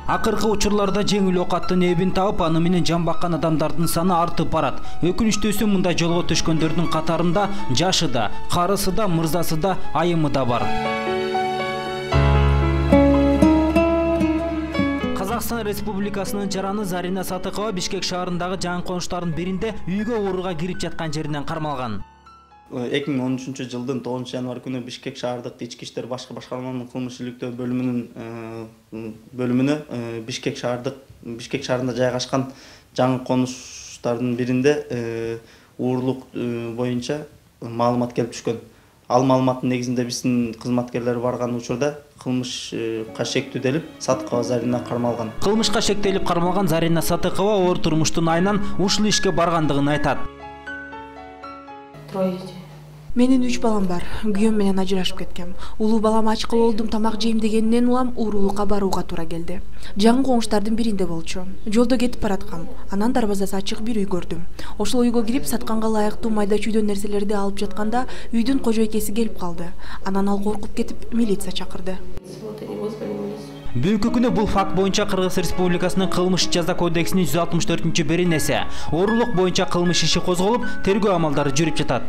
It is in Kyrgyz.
Акыркы учурларда жеңил ок аттын эбин таап, аны менен жан баккан адамдардын саны артып барат. Өкүнүчтүүсү мындай жолго түшкөндөрдүн катарында жашы да, карысы да, мырзасы да, айымы да бар. Казакстан Республикасынын жараны Зарина Сатыкова Бишкек шаарындагы жаңы конуштардын биринде үйгө ооруга кирип жаткан жеринен кармалган. 2013 жылдын 9 январь күнү Бишкек шаардык ички иштер башкы башкарманын кылмыш иликтөө бөлүмүнө Бишкек шаарында жайгашкан жаңы конуштардын биринде уурулук боюнча маалымат келип түшкөн. Ал маалыматтын негизинде биздин кызматкерлер барган учурда кылмышка шектелип Сатыкова Зарина кармалган. Кылмышка шектелип кармалган Зарина Сатыкова оор турмуштун айынан ушул ишке баргандыгын айтат. Менин 3 балам бар. Күйөөм менен ажырашып кеткем. Улуу балам ачкыл болдум, тамак жейм дегенинен улам уурулукка барууга туура келди. Жаңы коңуштардын биринде болчу. Жолдо кетип бараткам. Анан дарбазасы ачык бир үй көрдүм. Ошол үйгө кирип сатканга ылайыктуу майда чүйдөн нерселерди алып жатканда үйдүн кожойкеси келип калды. Анан ал коркуп кетип милиция чакырды. Бүгүнкү күнү бул факт боюнча Кыргыз Республикасынын кылмыш жаза кодексинин 164-беренеси оорулук боюнча кылмыш иши козголуп, тергөө амалдары жүрүп жатат.